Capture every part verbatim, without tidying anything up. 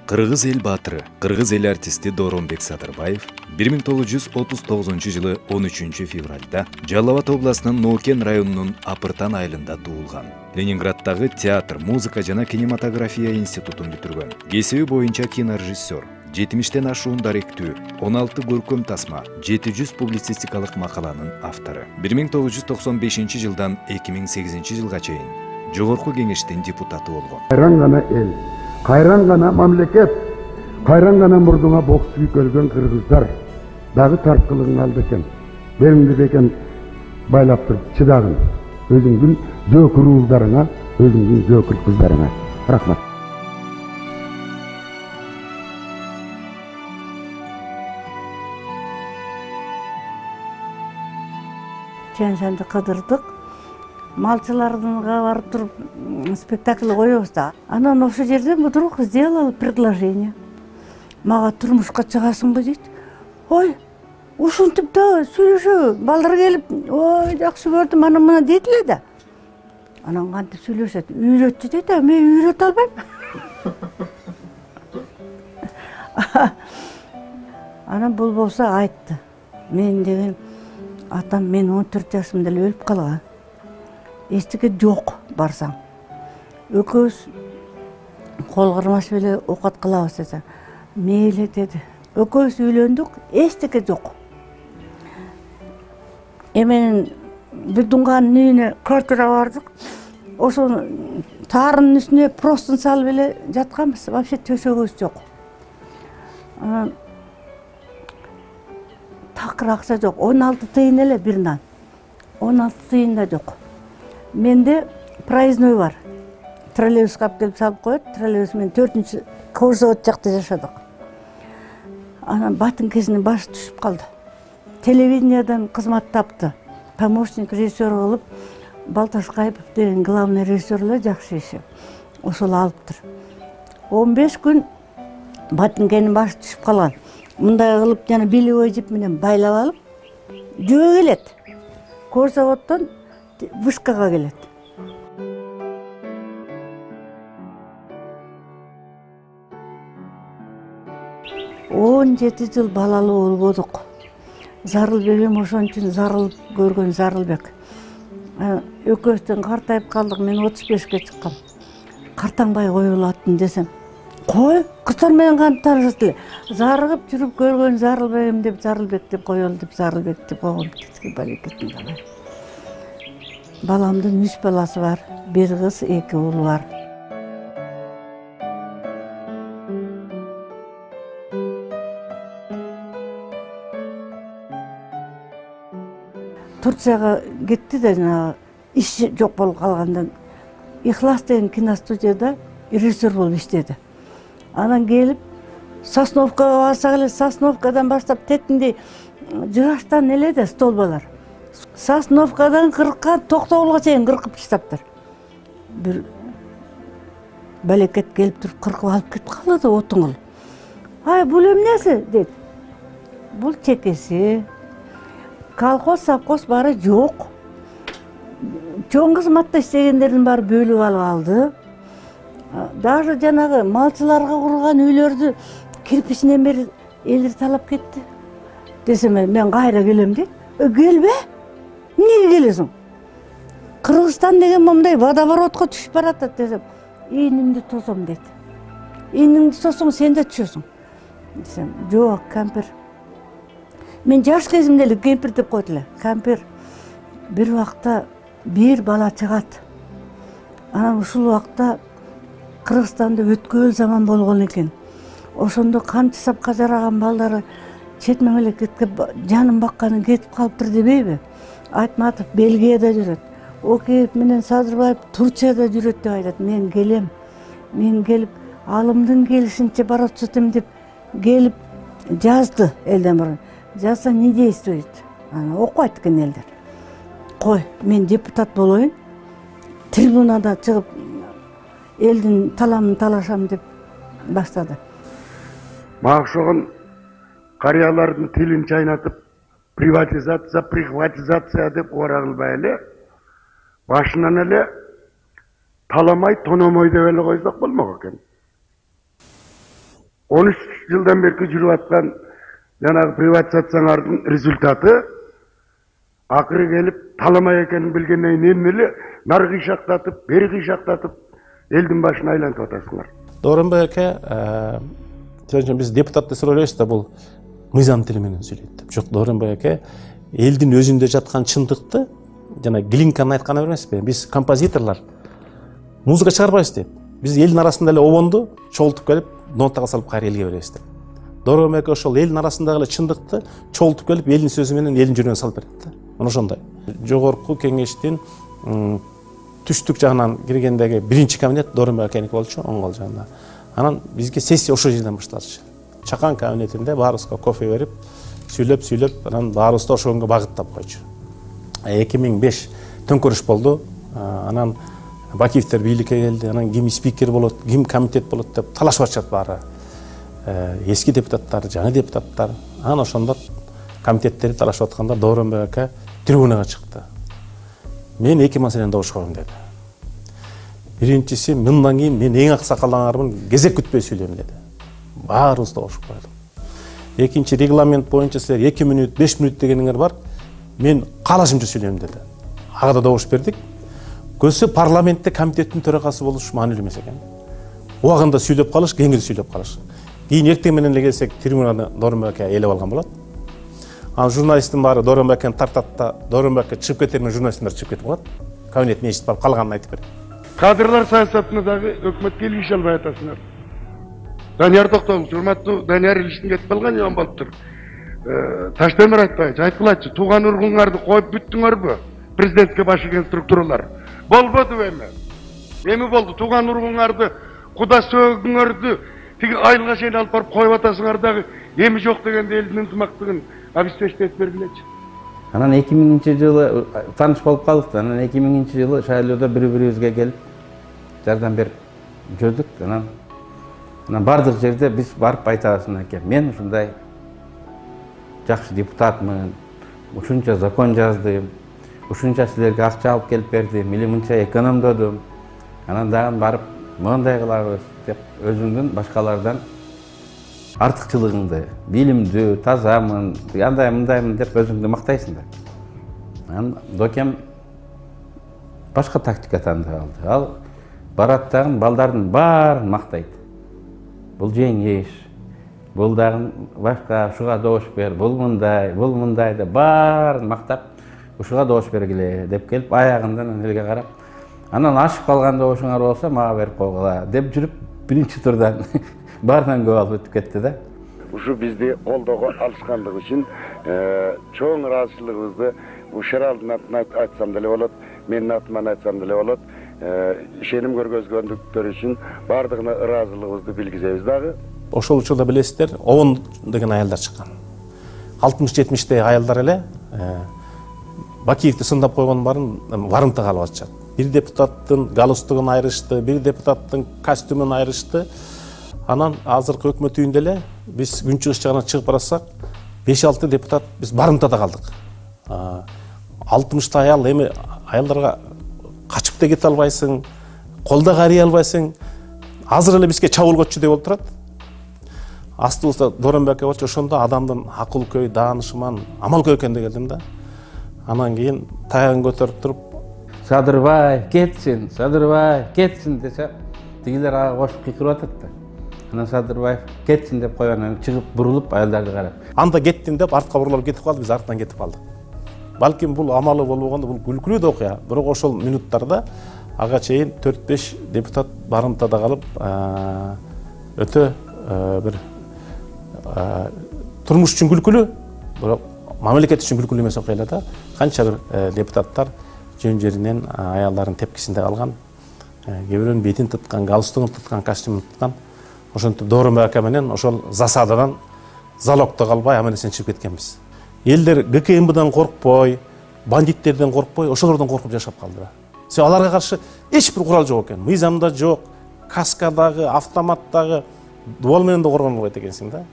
Кыргыз эл баатыры, кыргыз эл артисти Дооронбек Садырбаев бир миң тогуз жүз отуз тогузунчу жылы он үчүнчү февралда Жалал Абад областынын Ноокен районунун Апыртан айылында туулган. Ленинграддагы театр, музыка жана кинематография институтун бүтүргөн. Кесиби боюнча кинорежиссер, жетимиштен ашуун даректүү, он алты көркөм тасма, жети жүз публицистикалык макаланын автору. бир миң тогуз жүз токсон бешинчи жылдан эки миң сегизинчи жылга чейин Жогорку кеңештин депутаты болгон. Кайран гана эл, кайран гана мамлекет, кайран гана мурдуңа бокс көлгөн кыргыздар дагы тарткылыгын алды экен. Беримди бекен байлап туруп чыдагын. Өзүңдүн зөөкүр уулдарыңа, өзүңдүн зөөкүр кыздарыңа. Рахмат. Чен-ченди кыдырдык. Малчылардынга барып туруп спектакль коебуз да. Анан ошол жерден вдруг сделал предложение. Мага турмушка чыгасыңбы дейт. Ой, ушинтип да сүйлөшө, балдар келип, ой, жакшы көрдүм, ана мына дейт эле да. Анан кантип сүйлөшөт, үйрөтчү дейт, а мен үйрөтө албайм. Анан бул болсо айтты. Мен деген атам мен он төрт жашымда эле өлүп калган. Эчтеке жок барсаң. Экөөбүз кол кармаш эле оокат кылабыз десе. Мейли деди. Экөөбүз үйлөндүк, эчтеке жок. Эменин Бидунганын үйүнө квартира бардык. Ошо таардын үстүнө простын салып эле жатканбыз. Вообще төшөгүбүз жок. Анан такыр акча жок. он алты тыйын эле бир нан. он алты тыйын да жок. Менде проездной бар. Троллейбуска алып келип салып коет. Троллейбус менен төртүнчү Кожзавод жакта жашадык. Анан батынкесинин башы түшүп калды. Телевидениядан кызмат тапты. Помощник режиссер кылып, Балташ Кайыпов деген главный режиссер эле жакшы иши. Ошол алыптыр. он беш күн батынкенин башы түшүп калган. Мындай кылып жана белевой жип менен байлап алып, жөө келет. Кожзаводдон Вышкага келет. он жети жыл балалуу болбодук. Зарылбегим ошон үчүн зарылып көргөн Зарылбек. Экөөбүздөн картайып калдык, мен отуз бешке чыккам. Картаңбай кое болотун десем, кой, кыздар менен кантип таанышасыз эле? Зарыгып жүрүп көргөн Зарылбегим деп Зарылбек деп коелу деп Зарылбек деп койгом. Балекетин калай. Баламдын үч баласы бар, бир кыз, эки уул бар. Турцияга кетти да жана иш жок болуп калгандан Ихлас деген киностудияда режиссер болуп иштеди. Анан келип Сосновкага барсак эле, Сосновкадан баштап тетиндей жыгачтан эле да столбалар. Сосновкадан кыркка Токтогулга чейин кыркып таштаптыр. Бир балекет келип туруп кыркып алып кетип калды отун кылып. Ай, бул эмнеси дейт. Бул чекеси. Колхоз, совхоз баары жок. Чоң кызматта иштегендердин баары бөлүп алып алды. Даже жанагы малчыларга курулган үйлөрдү кирпичинен бери элдер талап кетти. Десем, мен кайра келем дейт. Келбе? Эмнеге келесиң? Кыргызстан деген момундай водоворотко түшүп баратат десем, ийнимди тосом дейт. Ийниңди тосоң сен да түшөсүң. Десем, жок, кампир. Мен жаш кезимде эле кемпир деп койт эле. Кампир бир убакта бир бала чыгат. Анан ушул убакта Кыргызстанда өткөөл заман болгон экен. Ошондо канча сапка жараган балдары чет мамлекетке жанын бакканы кетип калыптыр дебейби? Айтматов Бельгияда жүрөт. Океев менен Садырбаев Турцияда жүрөт деп айтат. Мен келем. Мен келип алымдын келишинче барып жатам деп келип жазды элден мурун. Жазса не действует? Ана окуйт экен элдер. Кой, мен депутат болоюн. Трибунада чыгып элдин таламын талашам деп баштады. Мага окшогон карыялардын тилин чайнатып, приватизация, прихватизация деп ора кылбай эле, башынан эле таламай, тономой деп эле койсок болмок экен. он үч жылдан бери жүрүп аткан жанагы приватизациялардын результаты акыры келип таламай экенин билгенден кийин эмне эле нары кыйшактатып, бери кыйшактатып элдин башын айлантып атасыңар. Дооронбек аке, сөзүн биз депутат деп ойлойбуз да, бул мыйзам тили менен сүйлөйт деп. Жок, Дооронбек аке элдин өзүндө жаткан чындыкты жана Глинканын айтканы эмеспи? Биз композиторлор музыка чыгарбайбыз деп. Биз элдин арасында эле обонду чогултуп келип, нотага салып кайра элге беребиз деп. Дооронбек аке ошол элдин арасындагы эле чындыкты чогултуп келип, элдин сөзү менен элдин жүрөгүнө салып берет да. Мына ошондой. Жогорку кеңештин түштүк жагынан киргендеги биринчи кабинет Дооронбек акеники болчу, оң кол жагында. Анан бизге сессия ошол жерден башталчу. Чакан кабинетинде баарыбызга кофе берип, сүйлөп-сүйлөп, анан баарыбызды ошого багыттап койчу. эки миң беш төңкөрүш болду. Анан Бакиевдер бийликке келди. Анан ким спикер болот, ким комитет болот деп талашып атышат баары. Эски депутаттар, жаңы депутаттар. Анан ошондо комитеттери талашып атканда Дооронбек аке трибунага чыкты. Мен эки маселени добуш коем деди. Биринчиси, мындан кийин мен эң аксакалыңармын, кезек күтпөй сүйлөйм деди. Баарыбыз добуш койдук. Экинчи, регламент боюнча силер эки мүнөт, беш мүнөт дегениңер бар. Мен каалашымча сүйлөйм деди. Ага да добуш бердик. Көсү парламентте комитеттин төрагасы болуш маанилүү эмес экен. Убагында сүйлөп калыш, кеңири сүйлөп калыш. Кийин эртең менен эле келсек, трибунаны Дооронбек аке ээлеп алган болот. Анан журналисттин баары Дооронбек акени тартат да, Дооронбек аке чыгып кетер менен журналисттер чыгып кетип калат. Кабинеттин эшитип барып калганын айтып берет. Кадрлар саясатына дагы өкмөткө келише албай атасыңар. Данияр Токтогул, урматтуу Данияр Илиштин кетип калган жөн болуптур. Таштемир айтпайчы, айткылачы, тууган ургуңарды коюп бүттүңөрбү? Президентке баш ийген структуралар. Болбоду эми. Эми болду, тууган ургуңарды, куда сөгүңөрдү тиги айылга чейин алып барып коюп атасыңар дагы эми жок дегенде элдин ынтымактыгын обеспечить бергилечи. Анан эки миңинчи жылы тааныш болуп калдык. Анан эки миңинчи жылы шайлоодо бири-бирибизге келип жардам берип жүрдүк. Анан анан бардык жерде биз барып айтабыз экен. Мен ушундай жакшы депутатмын, ушунча закон жаздым, ушунча силерге акча алып келип бердим, или мынча экономдодум. Анан дагы барып мындай кылабыз деп өзүңдүн башкалардан артыкчылыгыңды, билимдүү, тазамын, андай мындаймын деп өзүңдү мактайсың да. Анан Докем башка тактика тандап алды. Ал барат дагы балдардын баарын мактайт. Бул жеңиш, бул дагы башка, ушуга добуш бер, бул мындай, бул мындай деп баарын мактап, ушуга добуш бергиле деп келип аягындан элге карап, анан ашып калган добушуңар болсо мага берип койгула деп жүрүп биринчи турдан баарынан көп алып өтүп кетти да. Ушу бизди колдоого алышкандыгы үчүн чоң ыраазычылыгыбызды ушул алдын атынан айтсам деле болот, менин атыман айтсам деле болот, ишеним көргөзгөндүктөр үчүн баардыгына ыраазычылыгыбызды билгизебиз дагы. Ошол учурда билесиздер, Обон деген аялдар чыккан. алтымыш жетимиштеги аялдар эле Бакиевди сындап койгон барын барымтага алып атышат. Бир депутаттын галстугун айрышты, бир депутаттын костюмун айрышты. Анан азыркы өкмөт үйүндө эле биз күн чыгыш жагына чыгып барасак, беш алты депутат биз барымтада калдык. алтымышта аял, эми аялдарга качып да кете албайсың, колда карый албайсың. Азыр эле бизге чабуулгочу деп олтурат. Астыбызда Дооронбек аке болчу, ошондо адамдын акыл көй, даанышман, амал көй экенде келдим да. Анан кийин таягын көтөрүп туруп, Садырбай кетсин, Садырбай кетсин десе, тигилер ага кошуп кыйкырып атат да. Анан Садырбаев кетсин деп койгондан чыгып бурулуп аялдарды карап, анда кеттим деп артка бурулуп кетип калды, биз артынан кетип калдык. Балким бул амалы болбогондо бул күлкүлүү да окуя, бирок ошол минуттарда ага чейин төрт беш депутат барымтада калып, өтө бир турмуш үчүн күлкүлүү, бирок мамлекет үчүн күлкүлүү эмес окуялар да. Канча бир депутаттар жөн жеринен аялдардын тепкисинде калган, кээ бирөөнүн бетин туткан, галстугун туткан, костюмун туткан. Ошентип Дооронбек аке менен ошол засададан залогто калбай аман-эсен чыгып кеткенбиз. Элдер ГКМБдан коркпой, бандиттерден коркпой, ошолордон коркуп жашап калды. Себеби аларга каршы эч бир курал жок экен. Мыйзамда жок, каскадагы, автоматтагы дуал менен да коргоно албайт экенсиң да.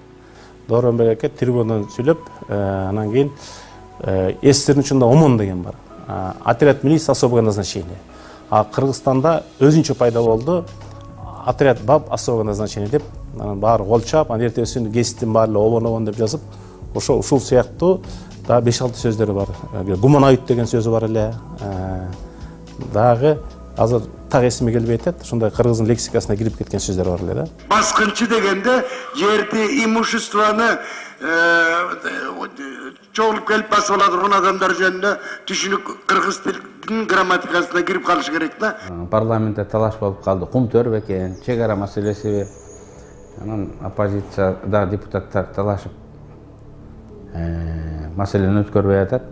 Дооронбек аке трибунадан сүйлөп, анан кийин эстердин ичинде ОМОН деген бар. Отряд милиции особого назначения. А Кыргызстанда өзүнчө пайда болду. Отряд БАБ особого назначения деп анан баары кол чаап, анан эртесин гезиттин баары эле обон обон деп жазып, ошо ушул сыяктуу дагы беш алты сөздөрү бар. Гуманоид деген сөзү бар эле. Дагы азыр так эсиме келбей атат. Ушундай кыргыздын лексикасына кирип кеткен сөздөр бар эле да. Баскынчы дегенде жерди, имуществоны чогулуп келип басып ала турган адамдар жөнүндө түшүнүк кыргыз тилинин грамматикасына кирип калыш керек да. Парламентте талаш болуп калды. Кум төр бекен, чек ара маселесиби. Анан оппозицияда депутаттар талашып маселени өткөрбөй атат.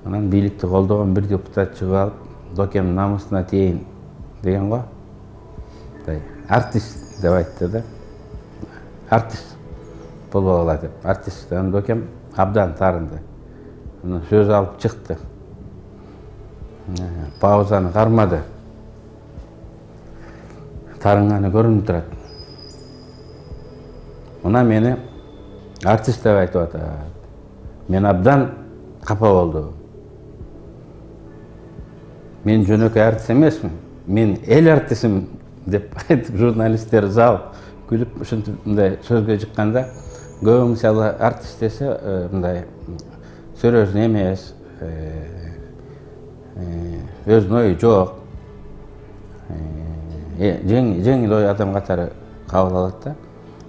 Анан бийликти колдогон бир депутат чыгып алып, докем намысына тиейин деген го. Артист деп айтты да. Артист болбой калат деп. Артисттен докем абдан тарынды. Анан сөз алып чыкты. Паузаны кармады. Тарынганы көрүнүп турат. Мына мени артист деп айтып атат. Мен абдан капа болдум. Мен жөнөкөй артист эмесмин. Мен эл артистимин деп айтып журналисттер зал күлүп ушундай сөзгө чыкканда, көбү мисалы артист десе мындай серьезный эмес, өзүнүн ою жок, жеңил ой адам катары кабыл алат да.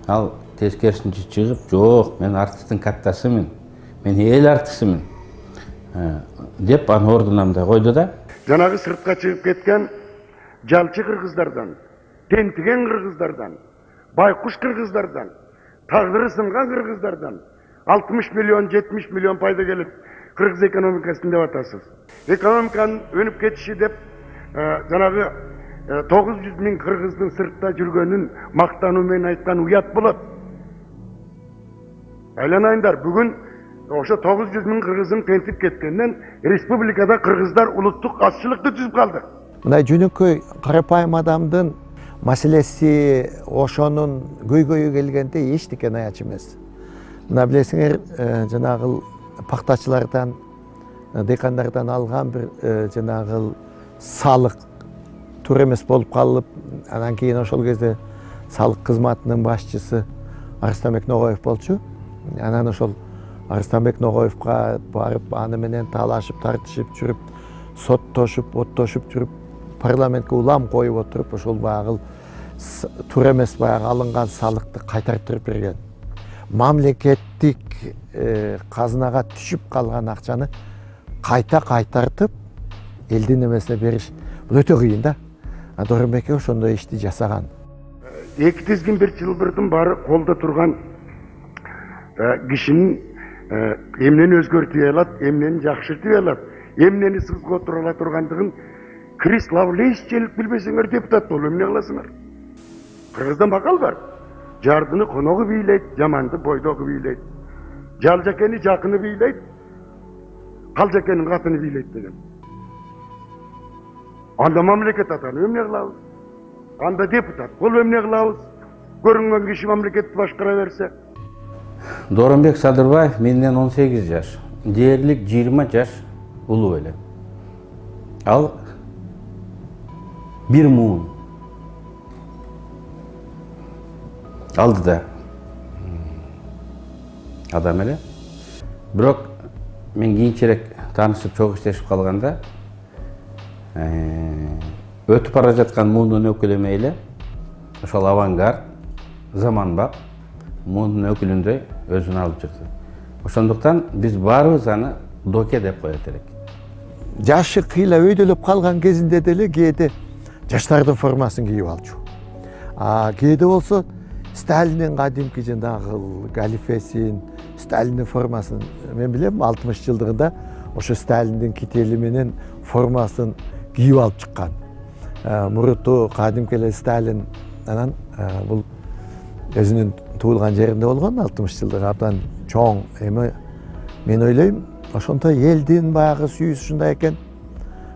Ал тескерисинче чыгып, жок, мен артисттин каттасымын, мен эл артистимин деп анын ордуна мындай койду да. Жанагы сыртка чыгып кеткен жалчы кыргыздардан, тентиген кыргыздардан, байкуш кыргыздардан, тагдыры сынган кыргыздардан алтымыш миллион, жетимиш миллион пайда келип, кыргыз экономикасын деп атасыз. Экономиканын өнүп кетиши деп жанагы тогуз жүз миң кыргыздын сыртта жүргөнүн мактануу менен айткан уят болот. Айланайындар, бүгүн ошо тогуз жүз миң кыргыздын тентип кеткенден республикада кыргыздар улуттук азчылыкты түзүп калды. Мындай жөнөкөй карапайым адамдын маселеси ошонун көйгөйү келгенде эчтекени аяч эмес. Мына билесиңер, жанагы пактачылардан, дыйкандардан алган бир жанагы салык туура эмес болуп калып, анан кийин ошол кезде салык кызматынын башчысы Арыстанбек Ногоев болчу. Анан ошол Арыстанбек Ногоевка барып, аны менен талашып, тартышып жүрүп, соттошуп, оттошуп жүрүп, парламентке улам коюп отуруп, ошол баягы туура эмес баягы алынган салыкты кайтартып берген. Мамлекеттик казынага түшүп калган акчаны кайта кайтартып, элдин эмесине бериш бул өтө кыйын да. Дооронбек ошондой ишти жасаган. Эки тизгин бир чылбырдын баары колдо турган кишинин эмнени өзгөртүп алат, эмнени жакшыртып алат, эмнени сызготура ала тургандыгын Крис Лавлейсчелик билбесеңер депутат болуп эмне кыласыңар? Кыргызда макал бар. Жардыны коногу бийлейт, жаманды бойдогу бийлейт. Жалжакени жакыны бийлейт, калжакенин катыны бийлейт деген. Анда мамлекет атанып эмне кылабыз? Анда депутат болуп эмне кылабыз? Көрүнгөн киши мамлекетти башкара берсе. Дооронбек Садырбаев менден он сегиз жаш, дээрлик жыйырма жаш улуу эле. Ал бир муун алдыда адам эле. Бирок мен кийинчерээк таанышып чогуу иштешип калганда өтүп бара жаткан муундун өкүлү эле ошол авангард, заманбап муундун өкүлүндөй өзүн алып чыкты. Ошондуктан биз баарыбыз аны доке деп коет элек. Жашы кыйла өйдөлөп калган кезинде деле кээде жаштардын формасын кийип алчу. А кээде болсо Сталиндин кадимки жанагы галифесин, Сталиндин формасын мен билем, алтымыш жылдыгында ошо Сталиндин кители менен формасын кийип алып чыккан. Муруту кадимки эле Сталин анан бул өзүнүн туулган жеринде болгон, алтымыш жылдык абдан чоң. Эми мен ойлойм, ошондой элдин баягы сүйүүсү ушундай экен.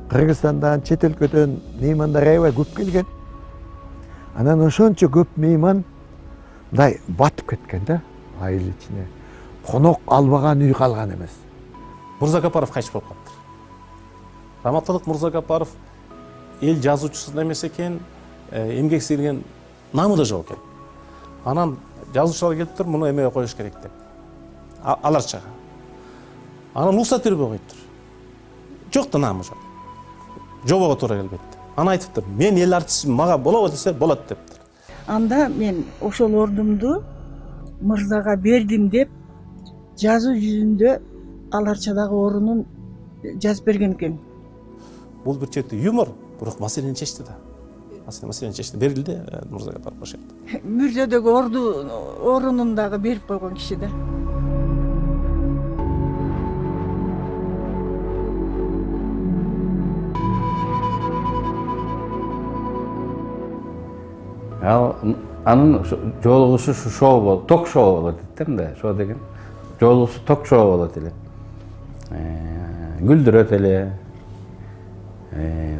Кыргызстандан, чет өлкөдөн меймандар аябай көп келген. Анан ошончо көп мейман мындай батып кеткен да, айыл ичине. Конок албаган үй калган эмес. Мурзагапаров кайтыш болуп калыптыр. Раматылык Мурзагапаров эл жазуучусу эмес экен, эмгек сиңирген намы да жок экен. Анан жазуучулар келип туруп муну эмеге коюш керек деп. Аларчага. Анан уруксат бербей коюптур. Жок да намы жок. Жобого туура келбейт. Аны айтыптыр. Мен эл артистмин, мага болобу десе болот дептир. Анда мен ошол ордумду мырзага бердим деп жазуу жүзүндө аларчадагы орунун жазып берген экен. Бул бир чети юмор, бирок маселени чечти да. Маселени чечти, берилди, мырзага барып бошотtu. Мүрзөдөгү орду орунун дагы берип койгон киши да. Ал анын жолугушу шоу болот, ток шоу болот дейт да, шоу деген. Жолугусу ток шоу болот эле. Күлдүрөт эле,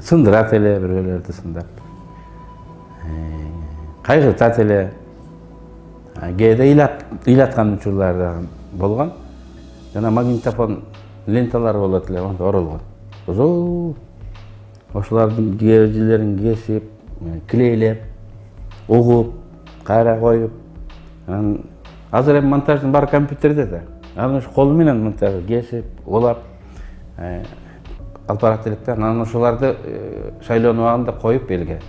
сындырат эле, бирөөлөрдү сындап. Кайгыртат эле. Кээде ыйлаткан учурлар да болгон. Жана магнитофон ленталар болот эле, оролгон. Озо ошолордун кежилерин кесип, клейлеп, угуп, кайра коюп. Анан азыр эми монтаждын баары компьютерде да. Анан ошо кол менен монтаж кесип, улап алып барат элек да. Анан ошолорду шайлоонун убагында коюп элге.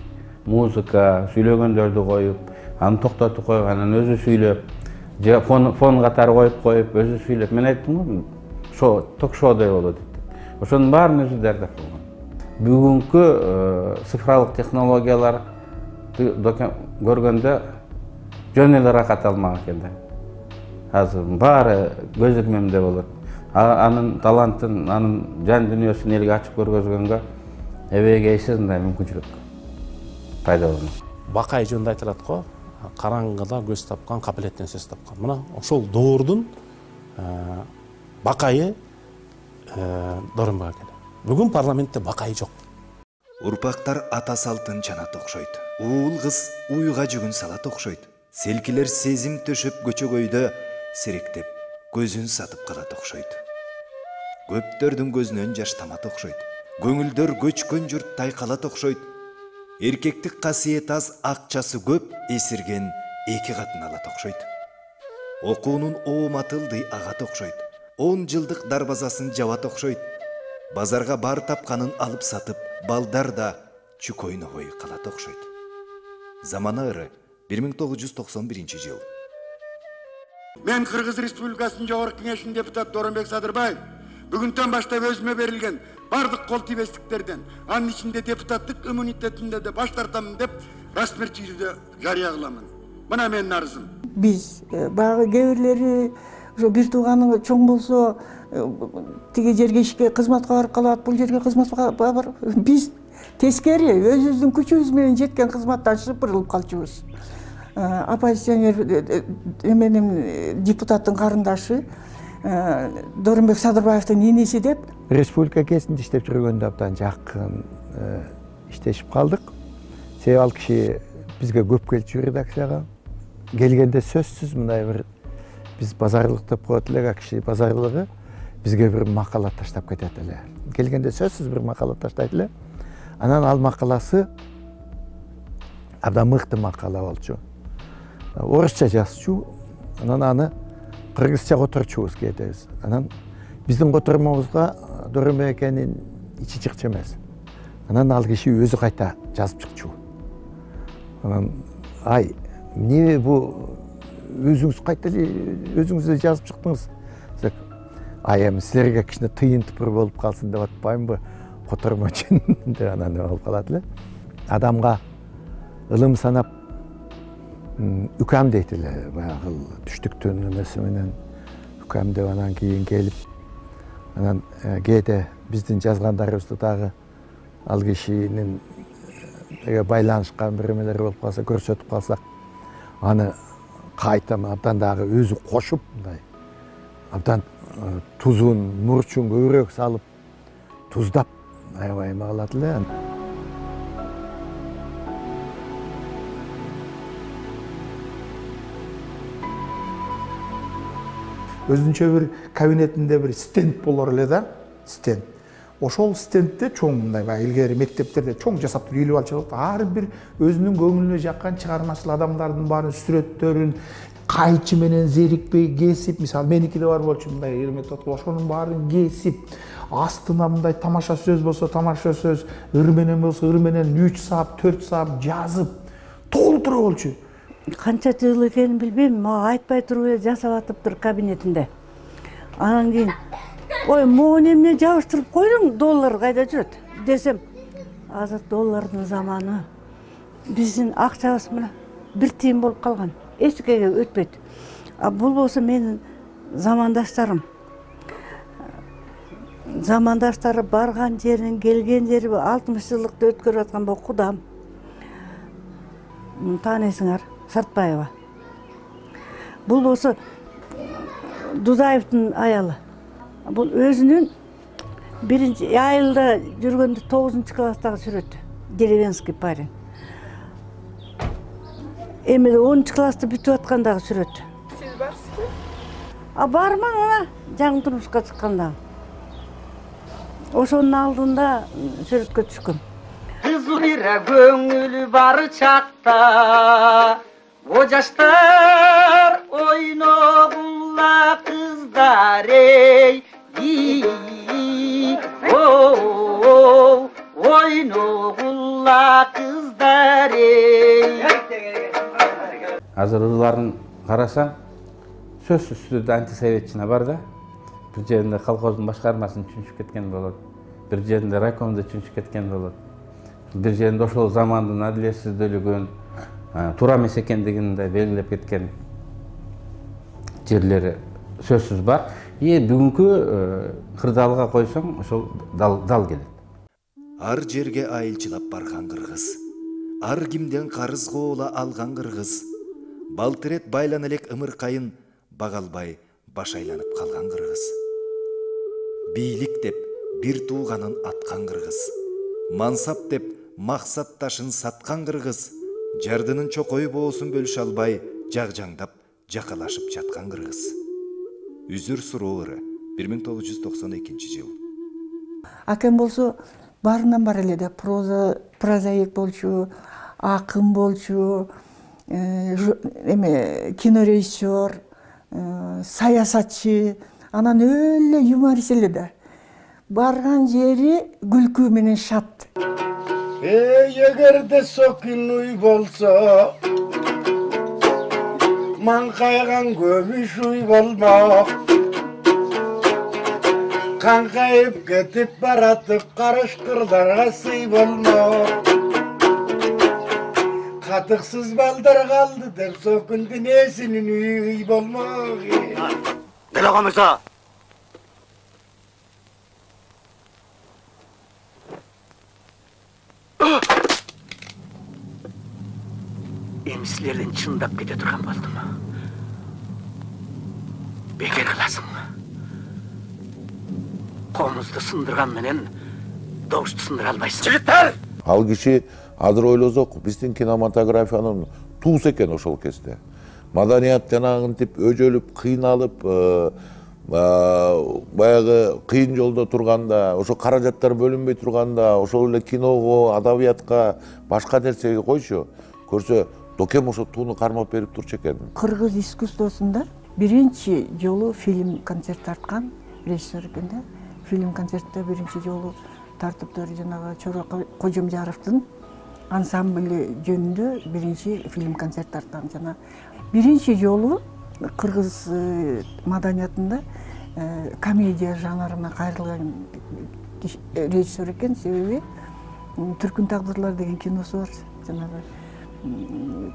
Музыка, сүйлөгөндөрдү коюп, аны токтотуп коюп, анан өзү сүйлөп, же фон фон катары коюп коюп, өзү сүйлөп. Мен айттым го, шоу, ток шоудай болот деп. Ошонун баарын өзү даярдап койгон. Бүгүнкү цифрлык технологиялар көргөндө жөн эле рахат алмак экен да. Азыр баары көз ирмемде болот. Анын талантын, анын жан дүйнөсүн элге ачып көргөзгөнгө эбеге эч кандай мүмкүнчүлүк пайда болмок. Бакай жөнүндө айтылат го, караңгыда көз тапкан, капилеттен сөз тапкан. Мына ошол доордун бакайы Дооронбек аке. Бүгүн парламентте бакай жок. Урпактар ата салтын чанат окшойт. Уул кыз уйга жүгүн салат окшойт. Селкилер сезим төшөп көчөгөйдө серектеп көзүн сатып калат окшойт. Көптөрдүн көзүнөн жаш тамат окшойт. Көңүлдөр көчкөн журт тайкалат окшойт. Эркектик касиет аз, акчасы көп, эсирген эки катын алат окшойт. Окуунун ооматылды агат окшойт. он жылдык дарбазасын жабат окшойт. Базарга бар тапканын алып сатып, балдар да чүкөйнөгөй калат окшойт. Замана ыры бир миң тогуз жүз токсон биринчи жыл. Мен Кыргыз Республикасынын Жогорку Кеңешинин депутаты Дооронбек Садырбаев бүгүндөн баштап өзүмө берилген бардык кол тийбестиктерден, анын ичинде депутаттык иммунитетимде де баш тартамын деп расмий түрдө жарыя кыламын. Мына менин арызым. Биз баягы кээ бирлери ошо бир тууганың чоң болсо тиги жерге ишке кызматка барып калат, бул жерге кызматка бар. Биз тескери өзүбүздүн күчүбүз менен жеткен кызматтан шыпырылып калчубуз. Оппозиционер эменин депутаттын карындашы Дооронбек Садырбаевдин энеси деп республика кезинде иштеп жүргөндө абдан жакын иштешип калдык. Себеби ал киши бизге көп келчү редакцияга. Келгенде сөзсүз мындай бир биз базарлык деп коет элек, а киши базарлыгы бизге бир макала таштап кетет эле. Келгенде сөзсүз бир макала таштайт эле. Анан ал макаласы абдан мыкты макала болчу. Орусча жазчу. Анан аны кыргызча которчубуз кетебиз. Анан биздин котормобузга Дооронбек акенин ичи чыкчу эмес. Анан ал киши өзү кайта жазып чыкчу. Анан ай, эмне бу өзүңүз кайта өзүңүз жазып чыктыңыз? Ай, эми силерге кичине тыйын тыпыр болуп калсын деп атпаймынбы? Котормо үчүн деп анан болуп калат эле. Адамга ылым санап үкам дейт эле, баягы түштүктүн эмеси менен үкам деп анан кийин келип анан кээде биздин жазгандарыбызды дагы ал кишинин байланышкан бир эмелер болуп калса, көрсөтүп калсак, аны кайта абдан дагы өзү кошуп мындай абдан тузун, мурчун көбүрөөк салып туздап аябай эме кылат эле. Өзүнчө бир кабинетинде бир стенд болор эле да, стенд. ошол стендте чоң мындай баягы илгери мектептерде чоң жасап туруп илип алчу ар бир өзүнүн көңүлүнө жаккан чыгармачыл адамдардын баарын сүрөттөрүн кайчы менен зерикпей кесип, мисалы меникиде бар болчу мындай ирмет откул, ошонун баарын кесип, астына мындай тамаша сөз болсо тамаша сөз, ыр менен болсо ыр менен үч саап, төрт саап жазып толтура болчу. Канча жыл экенин билбейм, мага айтпай туруп эле жасап атыптыр кабинетинде. Анан кийин ой, могу эмне жабыштырып койдуң, доллар кайда жүрөт десем, азыр доллардын заманы. Биздин акчабыз мына бир тиын болуп калган. Эчкеге өтпөйт. А бул болсо менин замандаштарым. Замандаштары барган жерин, келген жери алтымыш жылдыкты өткөрүп аткан бул кудам. Тааныйсыңар, Сартбаева. Бул болсо Дудаевдин аялы. Бул өзүнүн биринчи айылда жүргөндө тогузунчу класстагы сүрөтү. Деревенский парень. Эми онунчу класста бүтүп аткандагы сүрөтү. Сиз барсызбы? А бармын мына жаңы турмушка чыкканда. Ошонун алдында сүрөткө түшкөм. Кызылыра көңүл бар чакта, о жаштар ойногула кыздар эй, о ойногула кыздар эй. Азыр ырларын карасаң, сөзсүз түрдө антисоветчина бар да. Бир жеринде колхоздун башкармасын чүнчүп кеткен болот. Бир жеринде райкомду чүнчүп кеткен болот. Бир жеринде ошол замандын адилетсиздүүлүгүн, туура эмес экендигин да белгилеп кеткен жерлери сөзсүз бар. И бүгүнкү кырдаалга койсоң, ошол дал келет. Ар жерге айылчылап барган кыргыз. Ар кимден карыз коола алган кыргыз. Балтырет байлан элек ымыркайын багалбай баш айланып калган кыргыз. Бийлик деп бир тууганын аткан кыргыз. Мансап деп максат ташын саткан кыргыз. Жардынын чокою боосун бөлүшө албай жагжаңдап жакалашып жаткан кыргыз. Үзүр суроо ыры бир миң тогуз жүз токсон экинчи жыл. Акем болсо барынан бар эле да проза прозаик болчу, акын болчу, эме кинорежиссер, саясатчы, анан өлө юморист эле да. Барган жери күлкү менен шат. Эй, эгерде сокин уй болсо, маңкайган көмүш уй болмок. Каңкайып кетип баратып карышкырларга сый болмок. Катыксыз балдар калды деп сокундун эсинин уй болмок. Делага мырза. Эмсилерден чындап кете турган болдум. Бекер кыласың. Комузду сындырган менен добушту сындыра албайсың. Жигиттер! Ал киши азыр ойлосок, биздин кинематографиянын туусу экен ошол кезде. Маданият жанагынтип өжөлүп, кыйналып, баягы кыйын жолдо турганда, ошо каражаттар бөлүнбөй турганда, ошол эле киного, адабиятка, башка нерсеге койчу, көрсө Докем ошо тууну кармап берип турчу экен. Кыргыз искусствосунда биринчи жолу фильм концерт тарткан режиссер экен да. Фильм концертте биринчи жолу тартыптыр жанагы Чоро Кожомжаровдун ансамблі жөнүндө биринчи фильм концерт тарткан. Жана биринчи жолу кыргыз маданиятында комедия жанрына кайрылган режиссер экен, себеби Түркүн тагдырлар деген киносу бар. Жанагы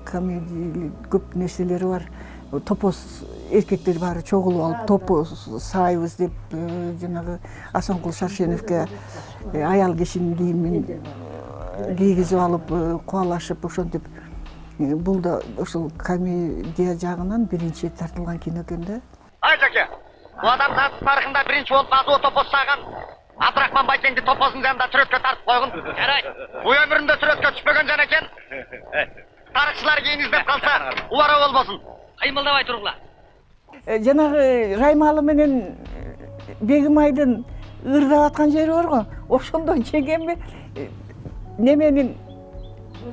комедия көп нерселери бар. Топоз эркектер баары чогулуп алып топоз сайбыз деп жанагы Асанкул Шаршеновке аял кишинин кийимин кийгизип алып кубалашып ошентип, бул да ошол комедия жагынан биринчи тартылган кино экен да. Ай жаке, бул адамзат тарыхында биринчи болуп азуу топоз саган Абдрахман Байкеңди топоздун жанында сүрөткө тартып койгун. Жарайт. Бул өмүрүндө сүрөткө түшпөгөн жан экен. Тарыхчылар кийин издеп калса, убара болбосун. Кыймылдабай тургула. Жанагы Раймалы менен Бегимайдын ырдап аткан жери бар го. ошондон чегенби неменин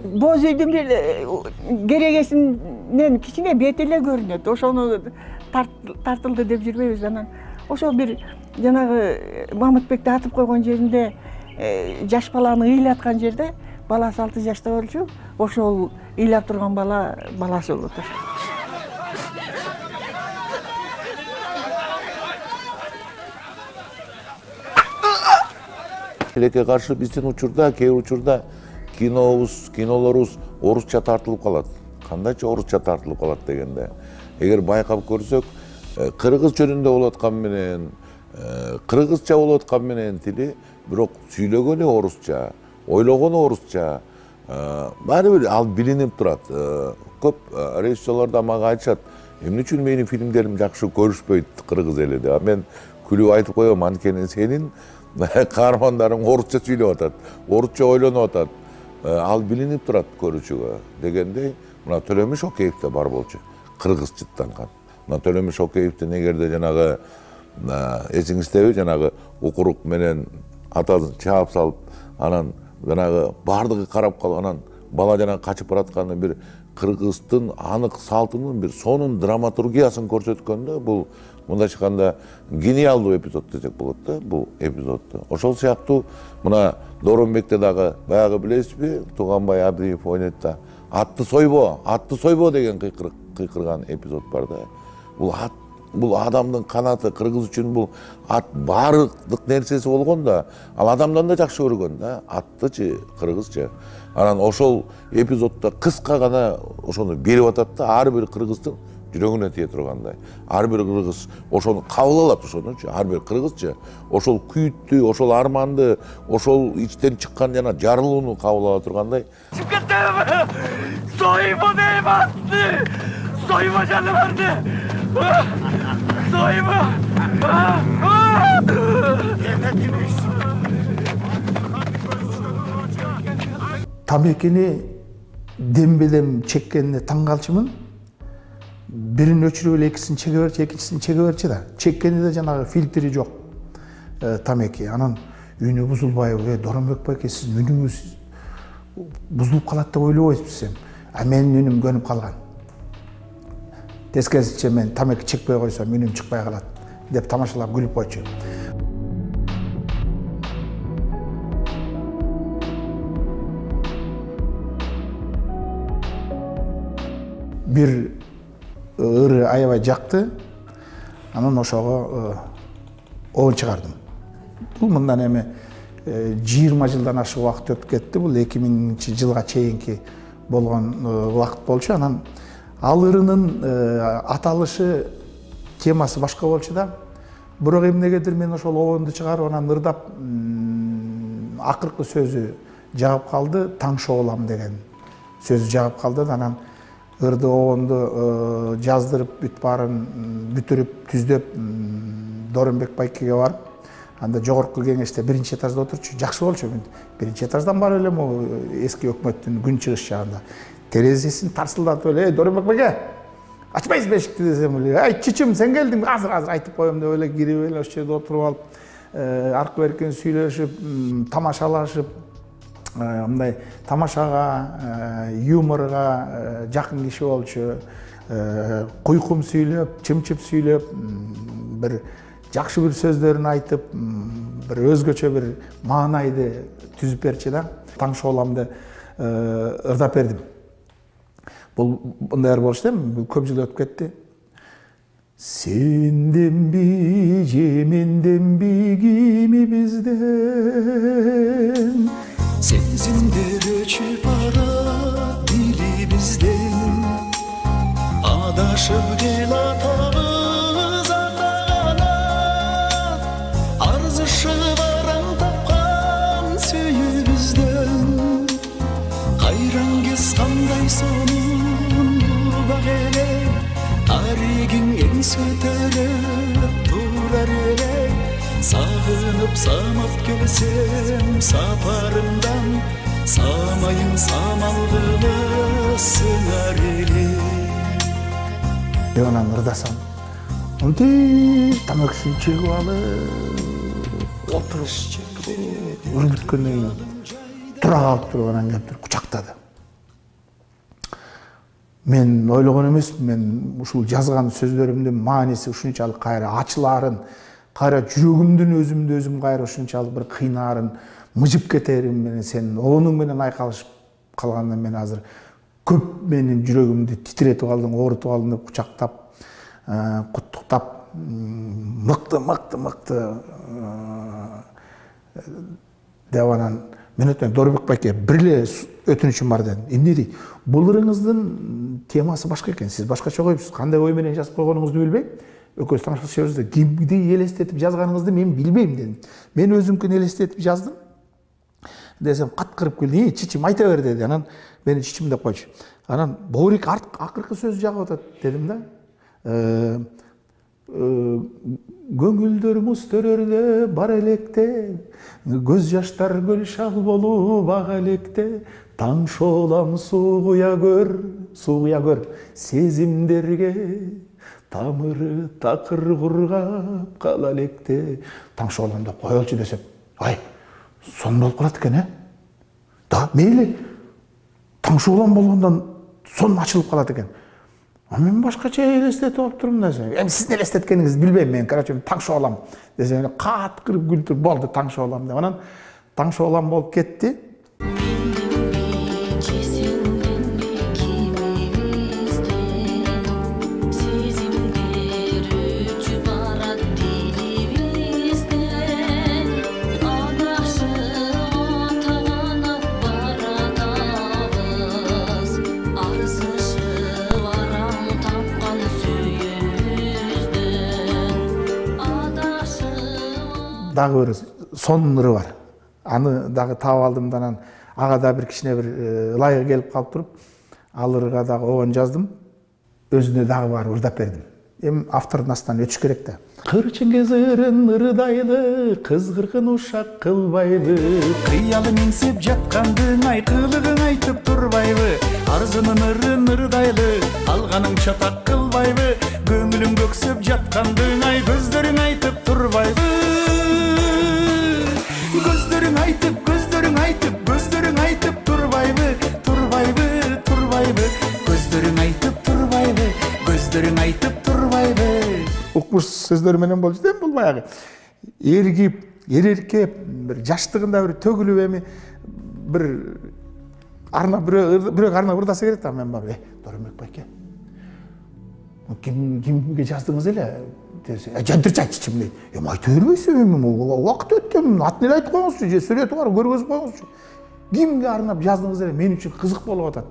боз үйдүн бир керегесинен кичине бети эле көрүнөт. Ошону тартылды деп жүрбөйбүз. Анан ошол бир жанагы Мамытбекти атып койгон жеринде жаш баланы ыйлаткан жерде баласы алты жашта болчу. Ошол ыйлап турган бала баласы болуп атат. Элекке каршы биздин учурда, кээ бир учурда кинобуз, кинолорубуз орусча тартылып калат. Кандайча орусча тартылып калат дегенде. Эгер байкап көрсөк, кыргыз жөнүндө болуп аткан менен, кыргызча болуп аткан менен тили, бирок сүйлөгөнү орусча, ойлогону орусча, баары бир ал билинип турат. Көп режиссерлор да мага айтышат, эмне үчүн менин фильмдерим жакшы көрүшпөйт кыргыз эли деп. Мен күлүп айтып коем, анткени сенин каармандарың орусча сүйлөп атат, орусча ойлонуп атат. Ал билинип турат көрүүчүгө дегендей, мына Төлөмүш Шокеев да бар болчу, кыргыз жыттанган. Мына Төлөмүш Шокеевдин эгерде жанагы эсиңиздеби, жанагы укурук менен атасын чаап салып, анан жанагы бардыгы карап калып, анан бала жана качып баратканы бир кыргыздын анык салтынын бир сонун драматургиясын көрсөткөндө, бул мындайча айтканда гениалдуу эпизод десек болот да, бул эпизодду. Ошол сыяктуу мына Дооронбекте дагы баягы билесизби, Туганбай Абдиев ойнойт да, атты сойбо, атты сойбо деген кыйкырган эпизод бар да. Бул ат, бул адамдын канаты, кыргыз үчүн бул ат баардык нерсеси болгон да, ал адамдан да жакшы көргөн да, аттычы, кыргызчы. Анан ошол эпизоддо кыска гана ошону берип атат да, ар бир кыргыздын жүрөгүнө тие тургандай. Ар бир кыргыз ошону кабыл алат, ошонучу, ар бир кыргызчы ошол күйүттү, ошол арманды, ошол ичтен чыккан жана жарылууну кабыл ала тургандай. Сойма дейм атты! Сойма жаныбарды! Сойма! Тамекени дембелем чеккенине таң калчумун. Бирин өчүрүп эле экисин чеге берчи, экинчисин чеге берчи да. Чеккенде жанагы фильтри жок тамеки. Анан үнү бузулбайбы, Дооронбек байке, сиз үнүңүз бузулуп калат деп ойлобойсузбу сен? А менин үнүм көнүп калган. Тескерисинче мен тамеки чекпей койсом үнүм чыкпай калат деп тамашалап күлүп койчу. Бир ыры аябай жакты, анан ошого оон чыгардым. Бул мындан эми жыйырма жылдан ашык убакыт өтүп кетти. Бул эки миңинчи жылга чейинки болгон убакыт болчу. Анан ал ырынын аталышы, темасы башка болчу да. Бирок эмнегедир мен ошол оонду чыгарып, анан ырдап акыркы сөзү жагып калды, таң шоолам деген сөзү жагып калды. Анан ырды оонду жаздырып, бүт баарын бүтүрүп, түздөп Дооронбек байкеге барып, анда жогорку кеңеште биринчи этажда отурчу. Жакшы болчу. Биринчи этаждан барып эле могу эски өкмөттүн күн чыгыш жагында терезесин тарсылдатып эле, "Эй, Дооронбек байке, ачпайсызбы эшикти?" десем эле, "Ай, чичим, сен келдиң, азыр азыр айтып коем" деп эле кирип эле ошол жерде отуруп алып, аркы беркин сүйлөшүп, тамашалашып, мындай тамашага, юморго жакын киши болчу. Куйкум сүйлөп, чымчып сүйлөп, бир жакшы бир сөздөрүн айтып, бир өзгөчө бир маанайды түзүп берчи да. Таң шооламды ырдап бердим. Бул мындай болчу да, көп жыл өтүп кетти. Сенденби, же менденби кимибизден сезимдер өчүп барат дилибизден, адашып келатабыз ата-ана, арзышып араң тапкан сүйүүбүздөн, кайраң кез кандай сонун бак эле, аригиң эңсе көтөрүп турар эле, сагынып самап келсем сапарымдан, самайың самалгыны сыңар эле. Анан ырдасам, мынтип тамакысын чегип алып, отуруп үрбүткөндөн кийин тура калып туруп анан келип туруп кучактады. Мен ойлогон эмесмин, мен ушул жазган сөздөрүмдүн мааниси ушунчалык кайра ачылаарын, кайра жүрөгүмдүн өзүмдү өзүм кайра ушунчалык бир кыйнаарын, мыжып кетерим менен сен оонуң менен айкалышып калгандан мен азыр көп менин жүрөгүмдү титиретип калдың, оорутуп калдың деп кучактап, куттуктап, мыкты мыкты мыкты деп анан мен өтөн Доробек байке бир эле өтүнүчүм бар дедим. Эмне дейт? Бул ырыңыздын темасы башка экен. Сиз башкача коюпсуз. Кандай ой менен жазып койгонуңузду билбейм. Экөөбүз тааныштырышыбыз да кимди элестетип жазганыңызды мен билбейм дедим. Мен өзүмкүн элестетип жаздым. Десем каткырып келди. "Эй, чичим, айта бер" деди. Анан мени чичим деп койчу. Анан Боорик акыркы сөз жагып атат дедим да. Көңүлдөр муз төрөрдө бар электе, көз жаштар көл шал болуп ага электе, таң шоолам суугуя көр, суугуя көр сезимдерге, тамыры такыр кургап кала электе. Таң шоолам деп коелучу десем, ай, сон болуп калат экен, э? Да, мейли. Таң шоолам болгондон сон ачылып калат экен. А мен башкача элестетип алып турмун десем. Эми сиздин элестеткениңизди билбейм мен, короче, таң шоолам десем, каткырып күлтүрүп болду таң шоолам деп. Анан таң шоолам болуп кетти. Дагы бир сон ыры бар. Аны дагы таап алдым да анан ага да бир кичине бир ылайыгы келип калып туруп, ал ырга дагы обон жаздым. Өзүнө дагы барып ырдап бердим. Эми автордун астынан өтүш керек да. Кыр чеңгез ырын ырдайлы, кыз кыркын ушак кылбайбы, кыялы миңсип жаткандың айкылыгын айтып турбайбы, арзынын ырын ырдайлы, алганың чатак кылбайбы, көңүлүң көксөп жаткандың ай көздөрүң айтып турбайбы. Көздөрүң айтып, көздөрүң айтып, көздөрүң айтып турбайбы, турбайбы, турбайбы, көздөрүң айтып турбайбы, көздөрүң айтып турбайбы. Укмуш сөздөр менен болчу да, бул баягы эргип, эреркеп, бир жаштыгында бир төгүлүп эми бир арнап бирөө бирөө арнап ырдаса керек да. Мен барып, "Э, Доробек байке, ким кимге жаздыңыз эле?" десе, "Жантырчы айтчычым" дейт. "Эми айта бербейсиң, эми убакыт өткөн, атын эле айтып коюңузчу, же сүрөтү бар, көргөзүп коюңузчу. Кимге арнап жаздыңыз эле? Мен үчүн кызык болуп атат."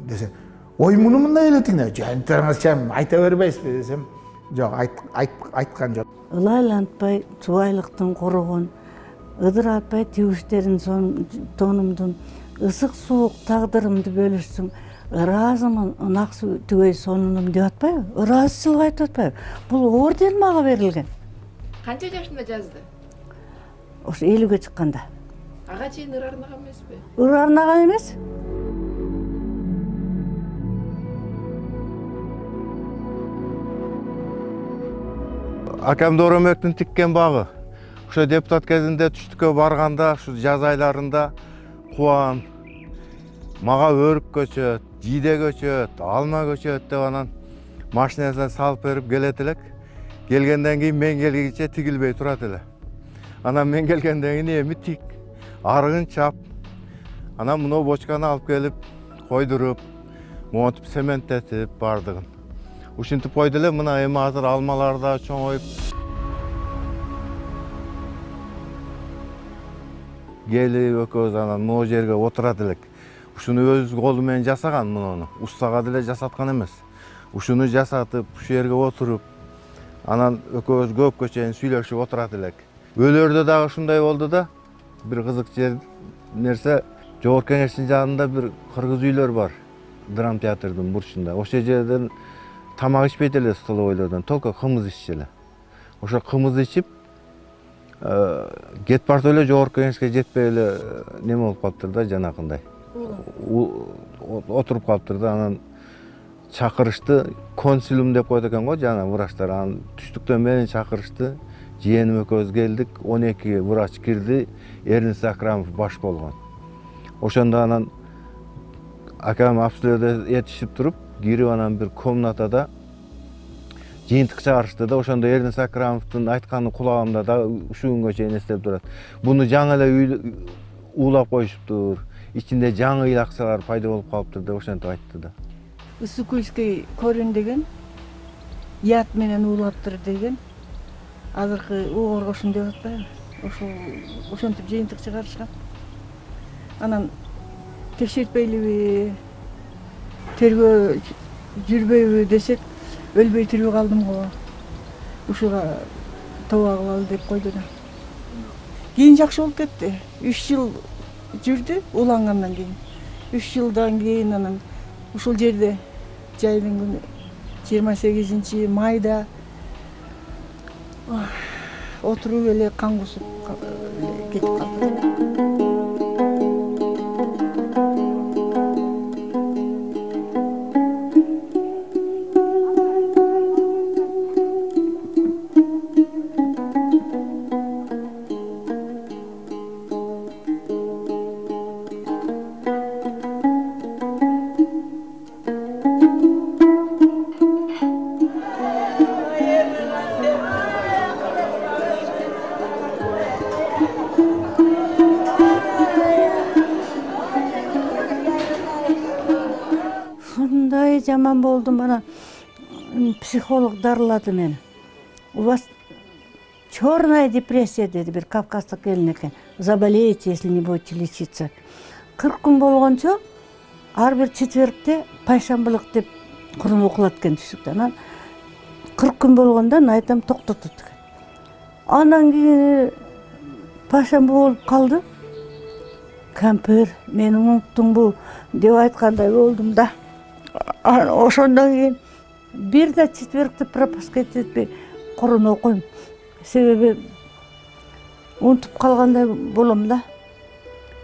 Десе, "Ой, муну мындай элетиңде, жантырчым айта бербейсизби?" десем, "Жок, айткан жок." Ылайлантпай чубайлыктын корогон, ыдыратпай тибиштерин тонумдун, ысык суук тагдырымды бөлүшсүң. Ыраазымын, ынаксы түгөй сонунум деп атпайбы? Ыраазычылык айтып атпайбы? Бул орден мага берилген. Канча жашында жазды? Ошо элүүгө чыкканда. Ага чейин ыр арнаган эмеспи? Ыр арнаган эмес. Акам Доромектин тиккен багы. Ошо депутат кезинде түштүккө барганда, ушу жаз айларында кубан, мага өрүк көчөт, жиде көчөт, алма көчөт деп анан машинасына салып берип келет элек. Келгенден кийин мен келгенче тигилбей турат эле. Анан мен келгенден кийин эми тик, арыгын чап. Анан мына бочканы алып келип койдуруп, монтип цементтетип бардыгын. Ушинтип койду эле, мына эми азыр алмалар да чоңоюп. Келип экөөбүз анан могу жерге отурат элек. Ушуну өз колу менен жасаган муну. Устага деле жасаткан эмес. Ушуну жасатып, ушу жерге отуруп, анан экөөбүз көпкө чейин сүйлөшүп отурат элек. Өлөрдө дагы ушундай болду да. Бир кызык жер нерсе, Жогорку Кеңештин жанында бир кыргыз үйлөр бар. Драм театрдын бурчунда. Ошол жерден тамак ичпейт эле столовойлордон, только кымыз иччү эле. Ошо кымыз ичип, кет барса эле Жогорку Кеңешке жетпей эле неме болуп калыптыр да, жанакындай. Отуруп калыптыр да, анан чакырышты, консилиум деп коет экен го, жана врачтар. Анан түштүктөн мени чакырышты, жыйеним экөөбүз келдик, он эки врач кирди, Эрнест Акрамов баш болгон. Ошондо анан акам обследование этишип туруп, кирип анан бир комнатада жыйынтык чыгарышты да, ошондо Эрнест Акрамовдун айтканы кулагымда да ушул күнгө чейин эстеп турат. Буну жаңы эле уулап коюшуптур, ичинде жаңы илакчалар пайда болуп калыптыр деп ошентип айтты да. Ысыкүлский көрүн деген, ят менен уулаптыр деген, азыркы угорго ушундай атпайбы? Ошол ошентип жыйынтык чыгарышкан. Анан текшертпейлиби, тергөө жүрбөйбү десек, өлбөй тирүү калдым го. Ушуга тоба кылалы деп койду да. Кийин жакшы болуп кетти. үч жыл жүрдү уулангандан кийин. үч жылдан кийин анан ушул жерде жайдын күнү жыйырма сегизинчи майда отуруп эле кан кусуп кетип калды. Жаман болдум, ана психолог дарылады мени. У вас черная депрессия деди, бир кавказдык келин экен. Заболеете, если не будете лечиться. кырк күн болгончо ар бир четвергте пайшамбылык деп Кур'ан окулат экен түшүктө. Анан кырк күн болгондон айтам токтотот экен. Андан кийин пайшамбы болуп калды. Кампир, мени уnuттуңбу деп айткандай болдум да. Ошондон кийин бир да четвергти пропуска этпей Кур'ан окуйм. Себеби унутуп калгандай болом да.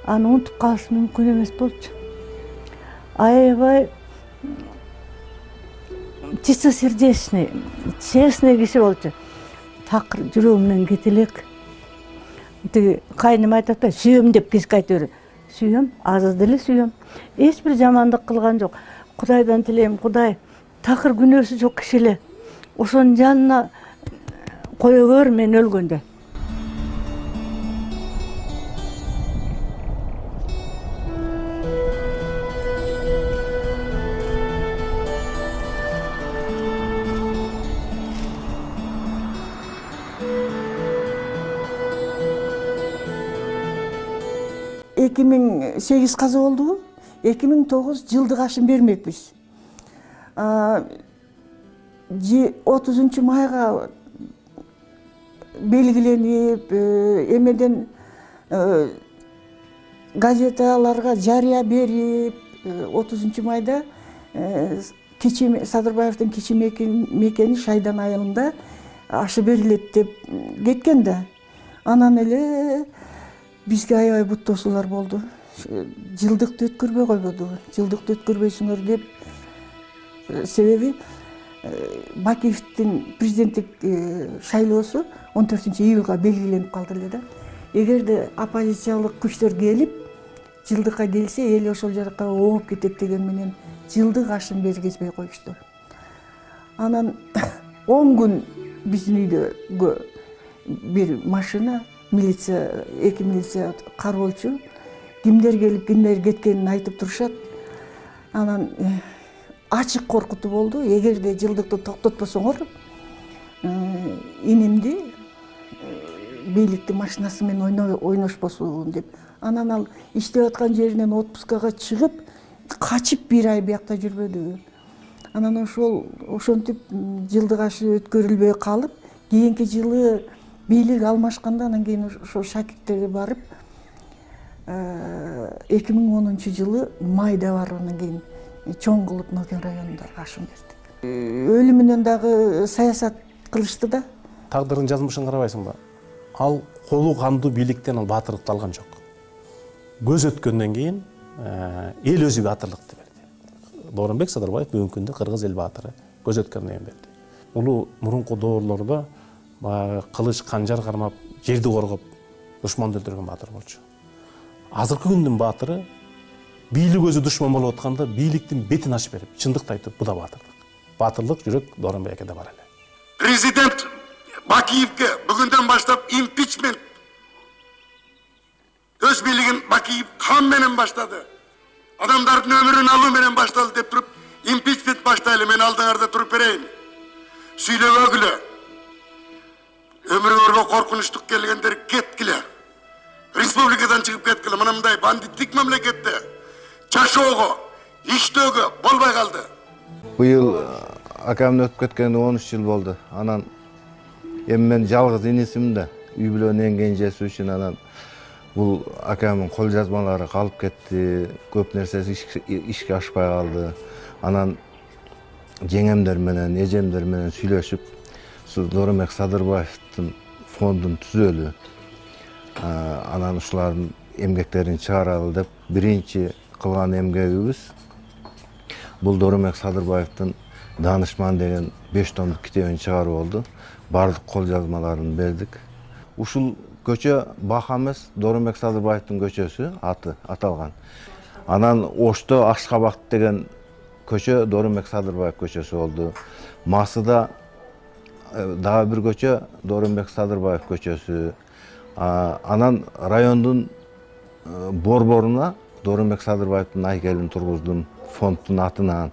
Аны унутуп калыш мүмкүн эмес болчу. Аябай чистосердечный, честный киши болчу. Такыр жүрөгүмдөн кете элек. Тиги кайным айтат да, сүйөм деп кечке айта берет. Сүйөм, азыр деле сүйөм. Эч бир жамандык кылган жок. Кудайдан тилейм, Кудай такыр күнөөсү жок киши эле ошонун жанына кое көр мен өлгөндө. эки миң сегиз каза болдубу? эки миң тогуз жылдык ашын бермекпиз. отузунчу майга белгиленип, эмеден газеталарга жарыя берип, отузунчу майда Садырбаевдин кичи мекени Шайдан айылында ашы берилет деп кеткен да. Анан эле бизге аябай бут тосуулар болду. Жылдыкты өткөрбөй койбоду. Жылдыкты өткөрбөйсүңөр деп. Себеби Бакиевдин президенттик шайлоосу он төртүнчү июлга белгиленип калды эле да. Эгерде оппозициялык күчтөр келип, жылдыкка келсе, эл ошол жака ооп кетет деген менен жылдык ашын бергизбей коюшту. Анан он күн биздин үйдө бир машина, милиция, эки милиция кароолчу, кимдер келип, кимдер кеткенин айтып турушат. Анан ачык коркутуу болду. Эгерде жылдыкты токтотпосоңор, инимди бийликтин машинасы менен ойношпосун деп. Анан ал иштеп аткан жеринен отпускага чыгып, качып бир ай биякта жүрбөдү. Анан ошол ошентип жылдык ашы өткөрүлбөй калып, кийинки жылы бийлик алмашканда анан кийин ошо шакирттерге барып, эки миң онунчу жылы майда барып анан кийин чоң кылып Нокен районунда ашын бердик. Өлүмүнөн дагы саясат кылышты да. Тагдырдын жазмышын карабайсыңбы? Ал колу кандуу бийликтен ал баатырлыкты алган жок. Көз өткөндөн кийин эл өзү баатырлыкты берди. Дооронбек Садырбаев бүгүнкү күндө кыргыз эл баатыры көз өткөндөн кийин берди. Улуу мурунку доорлордо баягы кылыч канжар кармап жерди коргоп душманды өлтүргөн баатыр болчу. Азыркы күндүн баатыры бийлик өзү душман болуп атканда бийликтин бетин ачып берип чындыкты айтып, бу да баатырлык. Баатырлык жүрөк Дооронбек акеде бар эле. Президент Бакиевке бүгүндөн баштап импичмент өз бийлигин Бакиев кан менен баштады. Адамдардын өмүрүн алуу менен башталды деп туруп, импичмент баштайлы, мен алдыңарда туруп берейин. Сүйлөбөгүлө. Өмүрүңөргө коркунучтук келгендер кеткиле. Республикадан чыгып кеткиле. Мына мындай бандиттик мамлекетте жашоого, иштөөгө болбой калды. Быйыл акамдын өтүп кеткенине он үч жыл болду. Анан эми мен жалгыз инисимин да, үй бүлөнүн эң кенжеси үчүн анан бул акамдын кол жазмалары калып кетти, көп нерсеси ишке ашпай калды. Анан жеңемдер менен, эжемдер менен сүйлөшүп, Дооронбек Садырбаевдин фондун түзөлү. Анан ушулардын эмгектерин чыгаралы деп биринчи кылган эмгегибиз бул Дооронбек Садырбаевдин Данышман деген беш томдук китебин чыгаруу болду. Бардык кол жазмаларын бердик. Ушул көчө Баха эмес, Дооронбек Садырбаевдин көчөсү аты аталган. Анан Ошто Ашкабак деген көчө Дооронбек Садырбаев көчөсү болду. Масыда дагы бир көчө Дооронбек Садырбаев көчөсү. Анан райондун борборуна Дооронбек Садырбаевдин айкелин тургуздум фонддун атынан.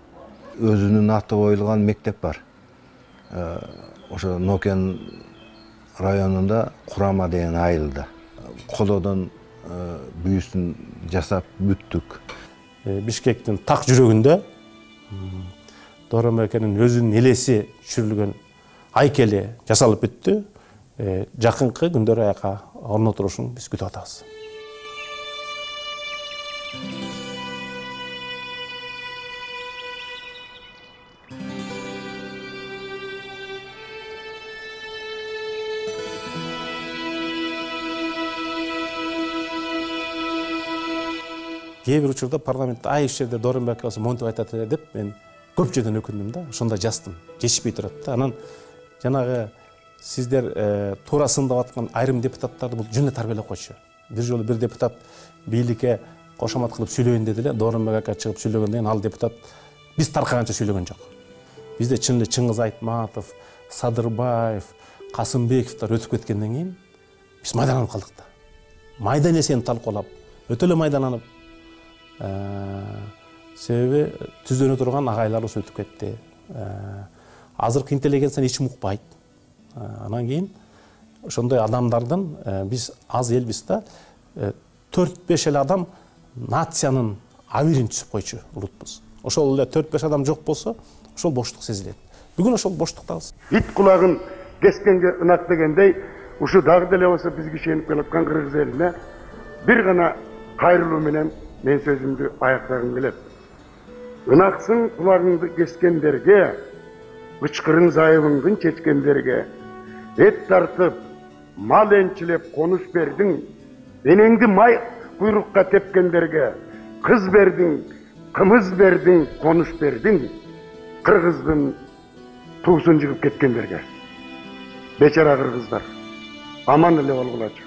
Өзүнүн аты коюлган мектеп бар. Ошо Нокен районунда Курама деген айылда. Колодон бүйүсүн жасап бүттүк. Бишкектин так жүрөгүндө Дооронбек акенин өзүнүн элеси түшүрүлгөн айкели жасалып бүттү. Жакынкы күндөр аяка орнотулушун биз күтүп атабыз. Кээ бир учурда парламентте ай иш жерде Дооронбек акасы монтип айтат эле деп мен көп жерден өкүндүм да, ошондо жаздым. Жетишпей турат да. Анан жанагы сиздер туура сындап аткан айрым депутаттарды бул жөн эле тарбиялап койчу. Бир жолу бир депутат бийликке кошомат кылып сүйлөйүн деди эле, Дооронбек ака чыгып сүйлөгөндөн кийин ал депутат биз таркаганча сүйлөгөн жок. Бизде чын эле Чыңгыз Айтматов, Садырбаев, Касымбековдор өтүп кеткенден кийин биз майдаланып калдык да. Майда нерсени талкуулап, өтө эле майдаланып, себеби түздөнө турган агайларыбыз өтүп кетти. Азыркы интеллигенция эч укпайт. Анан кийин ошондой адамдардын биз аз элбиз да, төрт беш эле адам нациянын абийирин түзүп койчу улутпуз. Ошол эле төрт беш адам жок болсо, ошол боштук сезилет. Бүгүн ошол боштуктабыз. Ит кулагын кескенге ынак дегендей, ушу дагы деле болсо бизге ишенип келаткан кыргыз элине бир гана кайрылуу менен мен сөзүмдү аяктагым келет. Ынаксың кулагыңды кескендерге, ычкырың зайыбыңдын чечкендерге, эт тартып, мал энчилеп конуш бердиң, энеңди май куйрукка тепкендерге, кыз бердиң, кымыз бердиң, конуш бердиң, кыргыздын туусун жыгып кеткендерге. Бечара кыргыздар, аман эле болгулачы.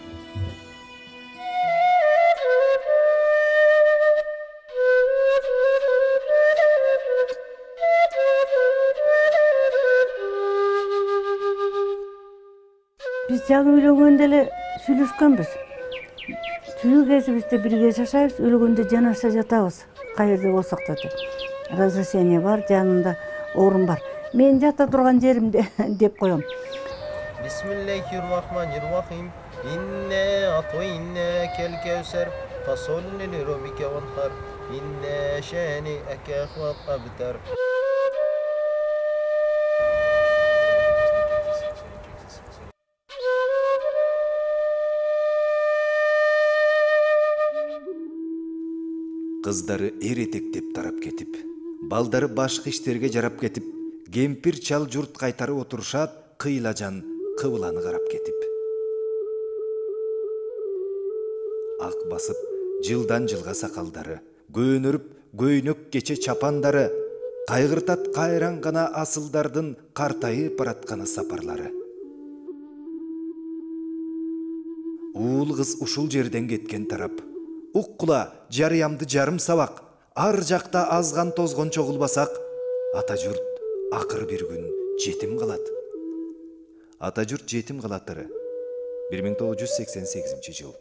Биз жаңы үйлөнгөндө эле сүйлөшкөнбүз. Түнү кезибизде бирге жашайбыз, өлгөндө жанаша жатабыз. Каерде болсок да. Разрешение бар, жанында орун бар. Мен жата турган жеримде деп коем. Бисмиллахир-рахманир-рахим. Инне атойне кел-кевсер, фасолли ли-роббика ванхар. Инне шани акахва абтар. Кыздары эретектеп тарап кетип, балдары башкы иштерге жарап кетип, кемпир чал журт кайтары отурушат, кыйлажан кыбыланы карап кетип. Ак басып, жылдан жылга сакалдары, көөнөрүп, көйнөк кече чапандары, кайгыртат кайран гана асылдардын картайып баратканы сапарлары. уул кыз ушул жерден кеткен тарап. Уккула жарыямды жарым сабак, ар жакта азган тозгон чогулбасак, ата журт акыр бир күн жетим калат. Ата журт жетим калатыры бир миң тогуз жүз сексен сегизинчи жыл.